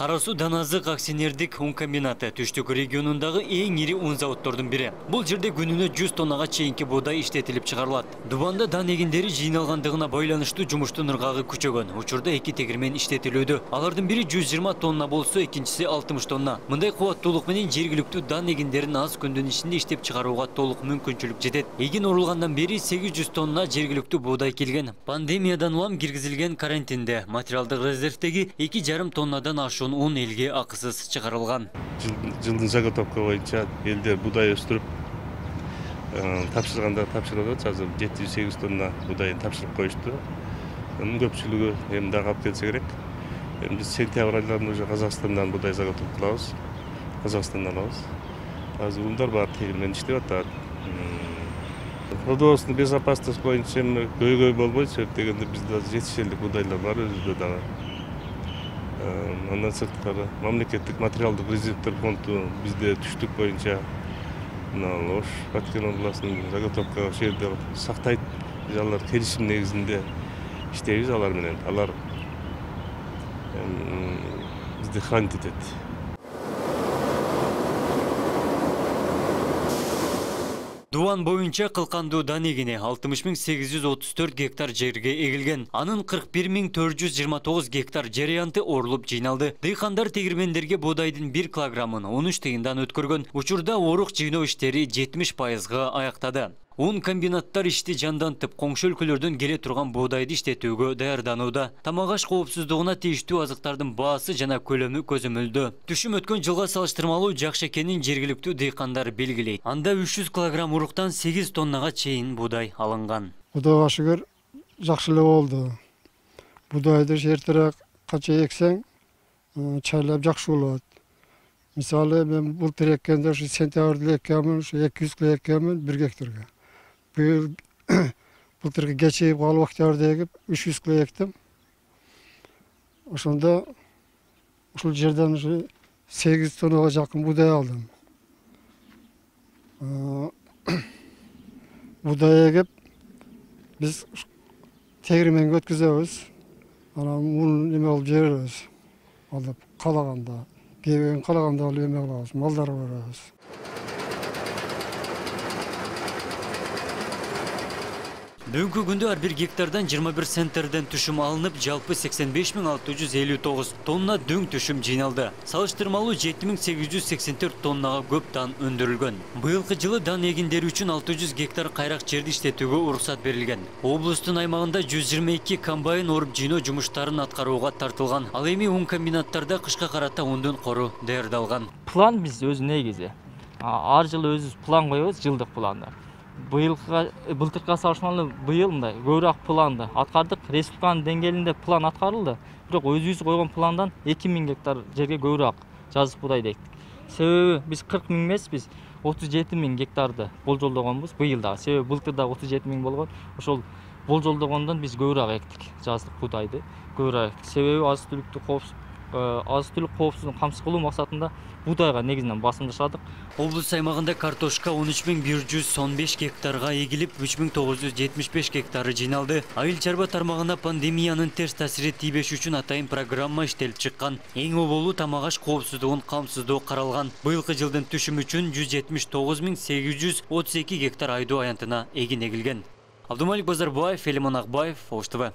Кара Суу Даназык акционердик un комбинаты Түштүк регионундагы эң ири un заводдордун бири. Бул жерде күнүнө 100 тоннага чейинки буудай иштетилип чыгарылат. Дубанда дан эгиндери жыйналгандыгына байланыштуу жумуштун ыргагы күчөгөн. Учурда 2 тегирмен иштетилүүдө. Алардын бири 120 тонна болсо, экинчиси 60 тонна. Мындай кубаттуулук менен жергиликтүү дан эгиндерин аз күндүн ичинде иштеп чыгарууга толук мүмкүнчүлүк жетет. Эгин урулгандан бери 800 тонна жергиликтүү буудай келген. Пандемиядан улам киргизилген карантинде материалдык резервдеги 2,5 тоннадан ашуун un элге акысыз чыгарылган. Жылдын заготовка боюнча элдер буудай өстүрүп тапшырганда тапшырып атат. Азыр 700-800 тонна буудайын тапшырып коюшту. Анын көпчүлүгү эми дагы алып келсе керек. Эми биз сентябрь айларында уже Казакстандан буудай заготовка кылабыз. Казакстандан алабыз. Азыр ундар баары тегирмен иштеп атат. Продовольственный безопасность боюнча көйгөй болбойт, себеп дегенде бизде жетишерлик буудайлар бар өзүбүздө дагы. Андан сырткары мамлекеттик материалдык резервдер фонду бизде Түштүк боюнча Ош Баткен областынын заготовка ошол жерде сактайт. Биз алар келишим негизинде иштейбиз алар менен. Алар бизди хранить этет. Дуан боюнча кылкандуу дан эгини 60.834 гектар жерге эгилген. Анын 41.429 гектар жериянты орулуп жыйналды. Дыйкандар тегирмендерге боодайдын 1 килограммын 13 тыйындан өткөргөн. Учурда орук жыйноо иштери 70%га аяктады. Un комбинаттар ишти жандантып, коңшу өлкөлөрдөн келе турган боодайды иштетүүгө даярданууда. Тамак-аш коопсуздугуна тийиштүү азыктардын баасы жана көлөмү көзөмөлдө. Түшүм өткөн жылга салыштырмалуу жакшы экенин жергиликтүү дыйкандар белгилейт. Анда 300 килограмм уруктан 8 тоннага чейин буудай алынган. Кудайга шүгүр, жакшы эле болду. Будайды эртерээк канча эксең, чайлап жакшы болот. Мисалы, мен былтыр эккенде ушу сентябрда эккенмин, ушу 200 кг эккенмин 1 гектарга. Былтыркы кечирип калып октябрда эгип 300 кг эктим. Ошондо ушул жерден ушу 8 тоннага жакын буудай алдым. Буудай эгип биз тегирменге өткүзөбүз. Анан мун эме кылып жиберебиз. Алып калаганда, кээбеген калаганда алып эме кылабыз, малдарга беребиз. Бүгүнкү күндө ар бир гектардан 21 центерден түшүм алынып, жалпы 85.659 тонна дөң түшүм жыйналды. Салыштырмалуу 7.884 тоннага көп дан өндүрүлгөн. Быйылкы жылы дан эгиндери үчүн 600 гектар кайрак жерди иштетүүгө уруксат берилген. Облустун аймагында 122 комбайн оруп жыйноо жумуштарын аткарууга тартылган. Ал эми un комбинаттарда кышка карата ундун кору даярдалган. План биз өзү негизи. Ар жылы өзүбүз план коебуз, жылдык планды. Былтыркыга салыштырмалуу быйыл мындай көбүрөөк планды аткардык. Республиканын деңгээлинде план аткарылды. Бирок өзүбүз койгон пландан 2000 гектар жерге көбүрөөк жазык буудай эктик. Себеби биз 40 000 эмес, биз 37 000 гектарды болжолдогонбуз быйыл дагы. Себеби былтыр да 37 000 болгон. Ошол болжолдогондон биз көбүрөөк эктик жазык буудайды. Көбүрөөк. Себеби азык-түлүк коопсуздугун камсыз кылуу максатында буудайга негизинен басым жашадык. Облус аймагында картошка 13.115 гектарга эгилип, 3.975 гектары жыйналды. Айыл чарба тармагына пандемиянын терс таасири тийбеш үчүн атайын программа иштелип чыккан. Эң оболу тамак-аш коопсуздугун камсыздоо каралган. Быйылкы жылдын түшүм үчүн 179.832 гектар айдоо аянтына эгин эгилген. Абдумалик Базарбаев, Элимон Акбаев, Ош ТВ.